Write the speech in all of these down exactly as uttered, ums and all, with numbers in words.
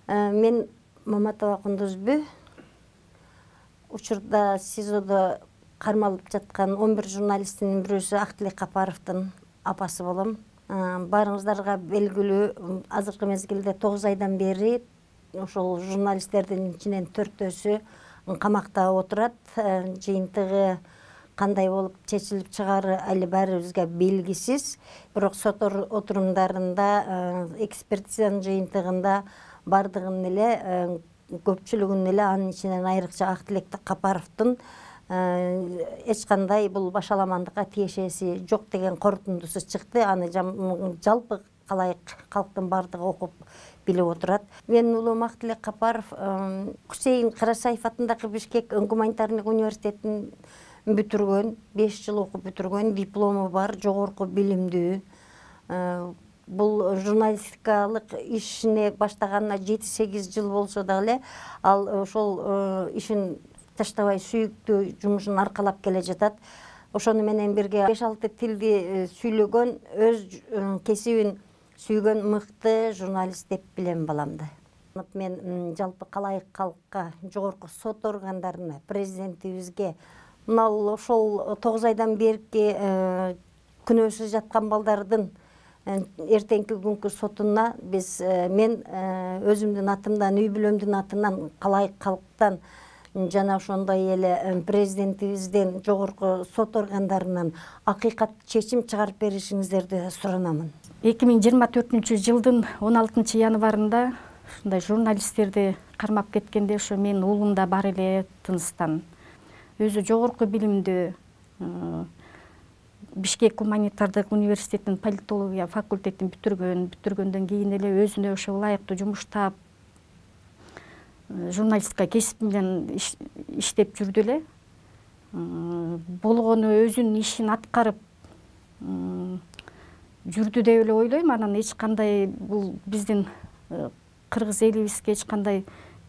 Мен Маматова Кундузбү. Учурда СИЗОдо кармалып жаткан он бир журналисттин бирөөсү Актилек Капаровдун апасы болом. Баарыңыздарга белгилүү, азыркы мезгилде тогуз айдан бери ошол журналисттердин ичинен төртөөсү камакта отурат. Жыйынтыгы кандай болуп чечилип чыгаары али баарыбызга белгисиз. Бирок сот отурумдарында, экспертизанын жыйынтыгында бардыгын эле, көпчүлүгүн эле, анын ичинен айрыкча Актилек Капаровдун эч кандай бул башаламандыкка тиешеси жок деген корутундусу чыкты. Аны жалпы калайык калктын бардыгы окуп билип отурат. Менин уулум Актилек Капаров Хусейин Карасаев атындагы Бишкек гуманитарный университетин бүтүргөн, беш жыл окуп бүтүргөн, диплому бар, жогорку билимдүү. Бул журналистикалык ишине баштаганына жети сегиз жыл болсо дагы эле, ал ошол ишин таштабай сүйүктүү жумушун аркалап келе жатат. Ошону менен бирге беш алты тилди сүйлөгөн, өз кесибин сүйгөн мыкты журналист деп билем баламды. Мен жалпы калайык калкка, жогорку сот органдарына, президентибизге мына ошол тогуз айдан берки күнөөсүз жаткан балдардын эртеңки күnkү сотуна биз мен өзүмдүн атымдан, үй бүлөмдүн атынан, калайык калктан жана ошондой эле президентибизден, жогорку сот органдарынан акыйкат чечим чыгарып беришиңиздерди суранамын. эки миң жыйырма төртүнчү жылдын он алтынчы январында ушундай журналисттерди кармап кеткенде ошо менин уулум да бар эле Тыныстан. Өзү жогорку билимдүү, Бишкек гуманитардык университетинин политология факультетин бүтүргөн, бүтүргөндөн кийин эле өзүнө ошо ылайыктуу жумуш таап, журналистика кесип менен иштеп жүрдү эле. Болгону өзүнүн ишин аткарып жүрдү деп эле ойлойм. Анан эч кандай бул биздин кыргыз элибизге эч кандай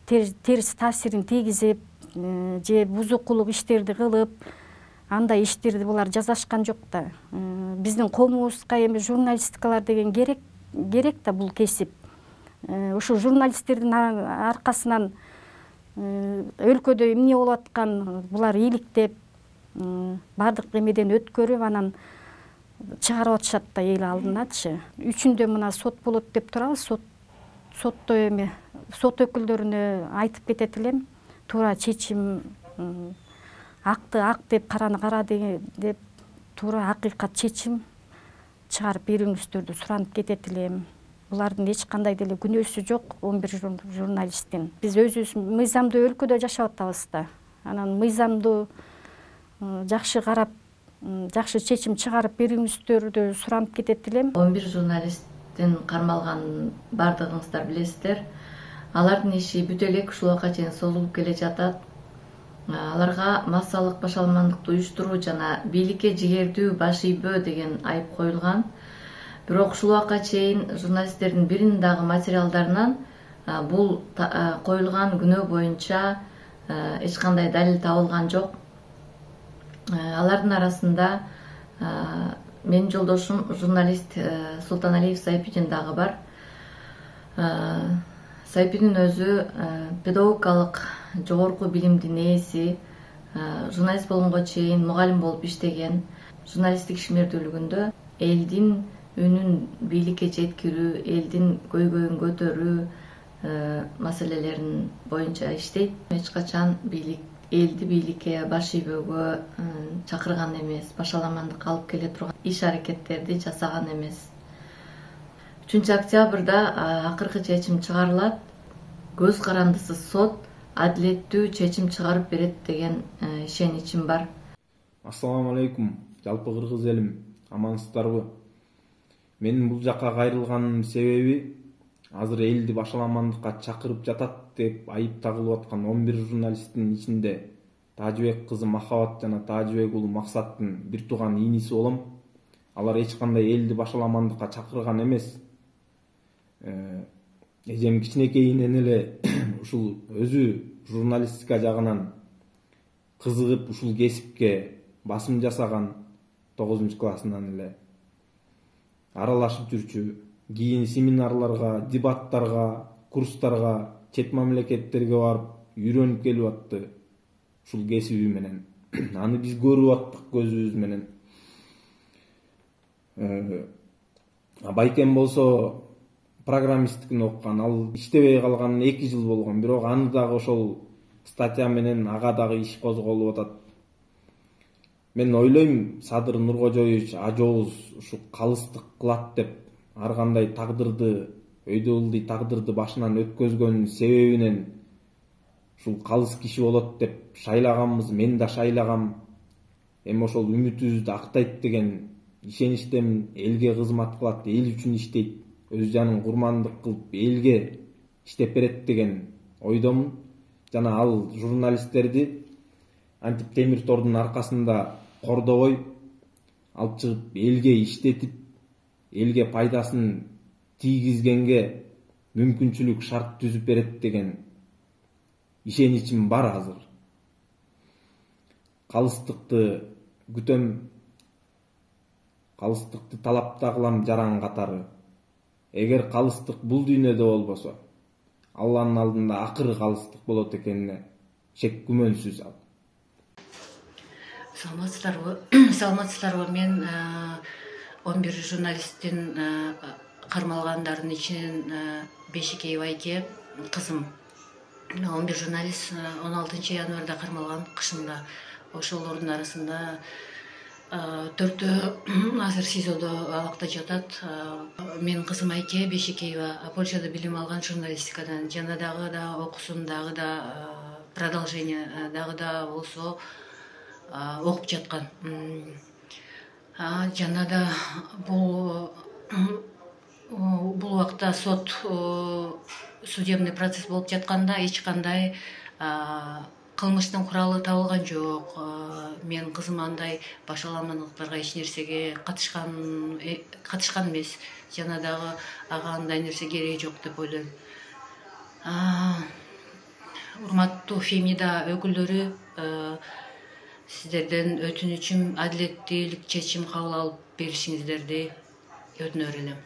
терс таасирин тийгизип же бузукулук иштерди кылып, андай иштерди булар жасашкан жок да. Биздин коомубузга эми журналисткалар деген керек, керек да бул кесип. Ошо журналисттердин аркасынан өлкөдө эмне болуп аткан, булар ийгиликтеп, бардык эмеден өткөрүп, анан чыгарып атышат да эл алдыначы. Үчүндө мына сот болот деп турабыз. Сот сотто эми сот өкүлдөрүнө айтып кетет элем. Туура чечим, акты ак деп, караны кара деп туура акыйкат чечим чыгарып берүүңүздөрдү суранып кетет элем. Булардын эч кандай деле күнөөсү жок, он бир журналисттин. Биз өзүбүз мыйзамдуу өлкөдө жашап атабыз да. Анан мыйзамдуу жакшы карап, жакшы чечим чыгарып берүүңүздөрдү суранып кетет элем. он бир журналисттин кармалганын бардыгыңыздар билесиздер. Алардын иши бүтө элек ушул убакка чейин созулуп келе жатат. Аларга массалык башаламандыкты уюштуруу жана бийликке жигердүү баш ийбөө деген айып коюлган. Бирок ушул убакка чейин журналисттердин биринин дагы материалдарынан бул коюлган күнөө боюнча эч кандай далил табылган жок. Алардын арасында менин жолдошум журналист Султаналиев Сайпидин дагы бар. Сайпидин өзү педагогикалык жогорку билимдин ээси, журналист болгонго чейин мугалим болуп иштеген. Журналисттик ишмердүүлүгүндө элдин үнүн бийликке жеткирүү, элдин көйгөйүн көтөрүү маселелерин боюнча иштейт. Эч качан бийлик элди бийликке баш ийбөөгө чакырган эмес, башаламандыкка алып келе турган иш аракеттерди жасаган эмес. үчүнчү октябрда акыркы чечим чыгарылат. Көз карандысыз сот адилеттүү чечим чыгарып берет деген ишеничим бар. Ассаламу алейкум, жалпы кыргыз элим, амансыздарбы? Менин бул жакка кайрылганымдын себеби азыр элди башаламандыкка чакырып жатат деп айып тагылып аткан он бир журналисттин ичинде Тажыбек кызы Махабат жана Тажыбек уулу Максаттын бир тууган ийниси болом. Алар эч кандай элди башаламандыкка чакырган эмес. Эжем кичинекейинен эле ушул өзү журналистика жагынан кызыгып ушул кесипке басым жасаган тогузунчу классынан эле аралашып жүрчү. Кийин семинарларга, дебаттарга, курстарга, чет мамлекеттерге барып үйрөнүп келип атты ушул кесиби менен. Аны биз көрүп аттык көзүбүз менен. Байкем болсо программисттикин окуган, ал иштебей калганына эки жыл болгон, бирок аны дагы ошол статья менен ага дагы иш козголуп атат. Мен ойлойм, Садыр Нуркожоевич ажообуз ушу калыстык кылат деп, ар кандай тагдырды, өйдө ылдый тагдырды башынан өткөзгөн себебинен ушул калыс киши болот деп шайлаганбыз, мен да шайлагам. Эми ошол үмүтүбүздү актайт деген ишеничтемин. Элге кызмат кылат, эл үчүн иштейт, өз жанын курмандык кылып элге иштеп берет деген ойдомун. Жана ал журналисттерди антип темир тордун аркасында кордобой алып чыгып элге иштетип, элге пайдасын тийгизгенге мүмкүнчүлүк, шарт түзүп берет деген ишеничим бар азыр. Калыстыкты күтөм, калыстыкты талап да кылам жаран катары. Эгер калыстык бул дүйнөдө болбосо, Алланын алдында акыры калыстык болот экенине шек күмөнсүз ал. Саламатсыздарбы? Саламатсыздарбы? Мен он бир журналисттин кармалгандардын ичинен Бешикеева айке кызым. он бир журналист он алтынчы январда кармалган кышында. Ошолордун арасында төртөө азыр СИЗОдо абакта жатат. Менин кызым Айке Бешикеева Польшада билим алган журналистикадан, жана дагы да окусун, дагы да продолжение дагы да болсо окуп жаткан. Жана да бул бул убакта сот, судебный процесс болуп жатканда эч кандай кылмыштын куралы табылган жок. Менин кызым андай башаламандыктарга эч нерсеге катышкан катышкан эмес. Жана дагы ага андай нерсе кереги жок деп ойлойм. Урматтуу Фемида өкүлдөрү, сиздерден өтүнүчүм адилеттүүлүк чечим кабыл алып беришиңиздерди өтүнөр элем.